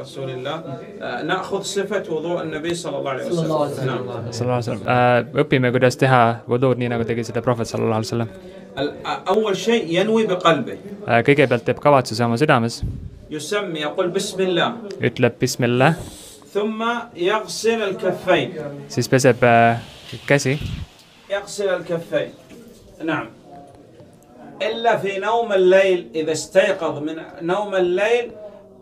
رسول الله نأخذ صفة وضوء النبي صلى الله عليه وسلم. õpime, kuidas teha wuduud nii, nagu tegi seda prohvet sallallahu alaihi wasallam. أول شيء ينوي بقلبه. kõigepealt teeb kavatsuse oma südames. يسمي يقول بسم الله. ütleb bismillah. ثم يغسل الكفين. siis peseb käsi. يغسل الكفين. نعم. إلا في نوم الليل إذا استيقظ من نوم الليل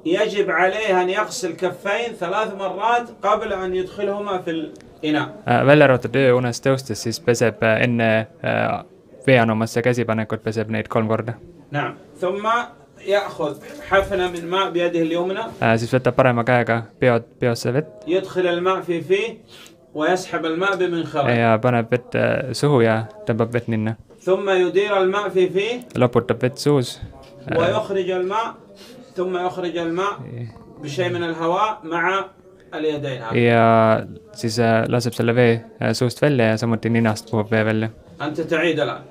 يجب عليه أن يغسل كفين 3 مرات قبل أن يدخلهما في الإناء. välja arvatud ööunest tõustes, siis peseb enne veeanumasse käsipanekut, peseb neid 3 korda. نعم. ثم يأخذ حفنة من ماء بيده اليمنى. siis võtab parema käega peosse vett. يدخل الماء في فيه ويسحب الماء بمنخره. ja paneb vett suhu ja tõmbab vett ninna. ثم يدير الماء في فيه. loputab vett suus. ويخرج الماء. ثم يخرج الماء بشيء من الهواء مع اليدين. ja siis laseb selle vee suust välja ja samuti ninast puhub vee välja. أنت تعيد الآن.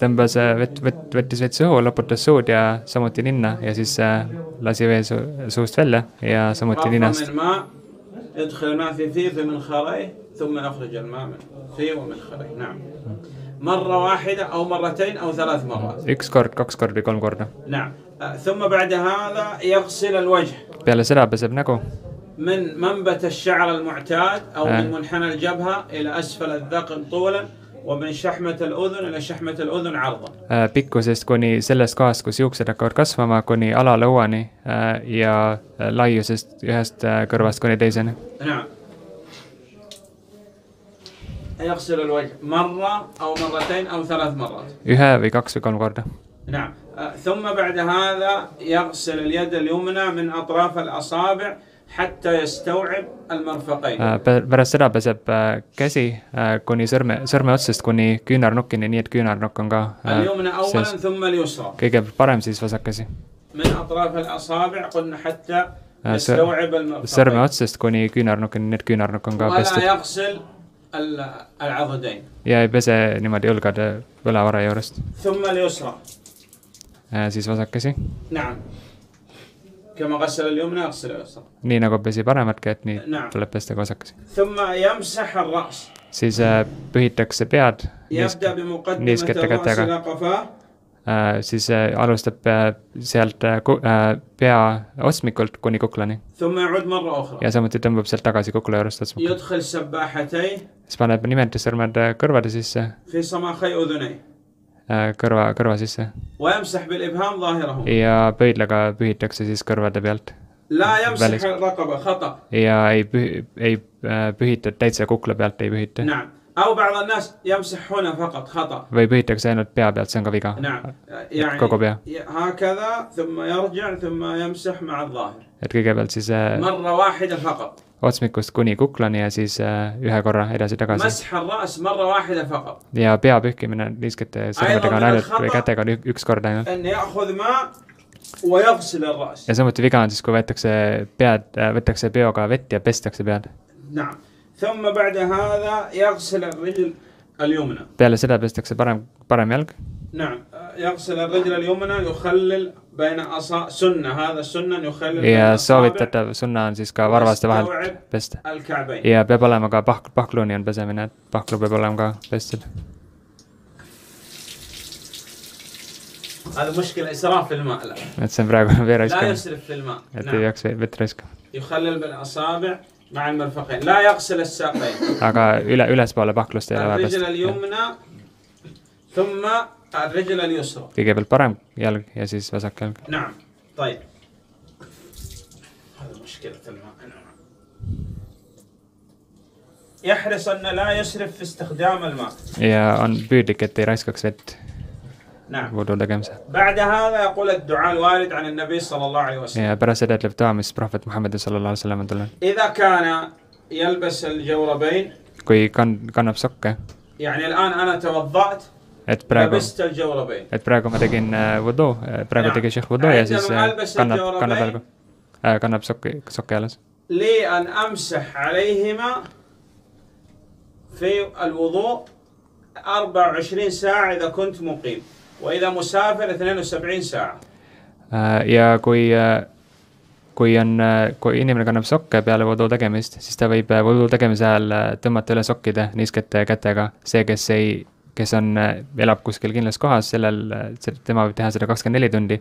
tõmbas võttis vett suhu, loputas suud ja samuti ninna ja siis lasi vee suust välja ja samuti ninast. يدخل الماء في فيه في منخريه ثم يخرج الماء من فيه ومنخريه. نعم. مرة واحدة أو مرتين أو 3 مرات. 1 kord, 2 korda või 3 korda. نعم. ثم بعد هذا يغسل الوجه. peale seda peseb nägu. من منبت الشعر المعتاد أو من منحنى الجبهة إلى أسفل الذقن طولا ومن شحمة الأذن إلى شحمة الأذن عرضا. pikkusest kuni sellest kohast, kus juuksed hakkavad kasvama, kuni alalõuani ja laiusest ühest kõrvast kuni teiseni. نعم. يغسل الوجه مرة أو مرتين أو 3 مرات. 1 või 2 või 3 korda. نعم. ثم بعد هذا يغسل اليد اليمنى من أطراف الأصابع حتى يستوعب المرفقين. pärast seda peseb käsi kuni sõrme otsast kuni küünarnukkini, nii et küünarnukk on ka اليمنى أولا ثم اليسرى. kõigepealt parem, siis vasakkäsi. من أطراف الأصابع قلنا حتى يستوعب المرفقين. sõrme otsast kuni küünarnukkini, nii et küünarnukk on ka pestud. ولا يغسل العضدين. ja ei pese niimoodi õlgade võlavara juurest. ثم اليسرى. siis vasakkäsi. نعم. كما غسل اليمنى يغسل اليسرى. nii nagu pesi paremat kätt, nii tuleb pesta ka vasakkäsi. ثم يمسح الرأس. siis pühitakse pead يبدأ بمقدمة niiskete الرأس kätega. إلى قفاه. siis alustab sealt pea otsmikult kuni kuklani. ثم يعود مرة أخرى. ja samuti tõmbab sealt tagasi kukla juurest otsmikult. يدخل سباحتيه. siis paneb nimetissõrmed kõrvade sisse. في صماخي أذنيه. kõrva sisse. ويمسح بالإبهام ظاهرهم. ja pöidlaga pühitakse siis kõrvade pealt. لا يمسح الرقبة خطأ. ja ei pühita täitsa kukla pealt, ei pühita. نعم. أو بعض الناس يمسح هنا فقط خطأ. või pühitakse ainult pea pealt, see on ka viga. نعم. يعني kogu pea. هكذا ثم يرجع ثم يمسح مع الظاهر. et kõigepealt siis مرة واحدة فقط. otsmikust kuni kuklani ja siis 1 korra edasi-tagasi. مسح الرأس مرة واحدة فقط. ja pea pühkimine niiskete sõrmedega on ainult või kätega on 1 kord ainult. أن يأخذ ماء ويغسل الرأس. ja samuti viga on siis, kui võetakse peoga vett ja pestakse pead. نعم. ثم بعد هذا يغسل الرجل اليمنى. peale seda pestakse parem jalg. نعم. يغسل الرجل اليمنى يخلل بين سنة هذا السنة يخلل. ja soovitatav sunna on siis ka varvaste vahelt pesta. ja peab olema ka pahkluni on pesemine, et pahklu peab olema ka pestud. هذا مشكلة إسراف في الماء. et see on praegu vee raiskamine. لا يسرف في الماء. et ei peaks vett raiskama. يخلل بالأصابع مع المرفقين. لا يغسل الساقين. aga ülespoole pahklust ei ole vaja الرجل pesta. اليمنى ثم الرجل اليسرى. kõigepealt parem jalg ja siis vasak jalg. نعم. طيب. هذا مشكلة الماء. يحرص أن لا يسرف في استخدام الماء. ja on püüdlik, et ei raiskaks vett. نعم. wudu tegemisel. بعد هذا يقول الدعاء الوارد عن النبي صلى الله عليه وسلم. ja pärast seda ütleb dua, mis prohvet Muhammad sallallahu alaihi wasallam on tulnud. إذا كان يلبس الجوربين. kui kannab sokke. يعني الآن أنا توضأت. et praegu ma tegin wudu, praegu tegi šehh wudu ja siis kannab sokke jalas. لي أن أمسح عليهما في الوضوء 24 ساعة إذا كنت مقيم. وإذا مسافر 72 ساعة. Ja kui inimene kannab sokke peale vodu tegemist, siis ta võib vodu tegemise ajal tõmmata üle sokkide niiskete kätega. See, kes elab kuskil kindlas kohas, tema võib teha seda 24 tundi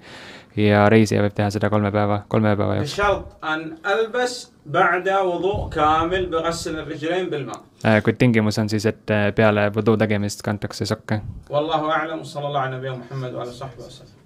ja reisija võib teha seda 3 päeva jooksul. بشرط أن ألبس بعد وضوء كامل بغسل الرجلين بالماء. Kuid tingimus on siis, et peale vodu tegemist kantakse sokke. والله أعلم. صلى الله على نبينا محمد وعلى صحبه وسلم.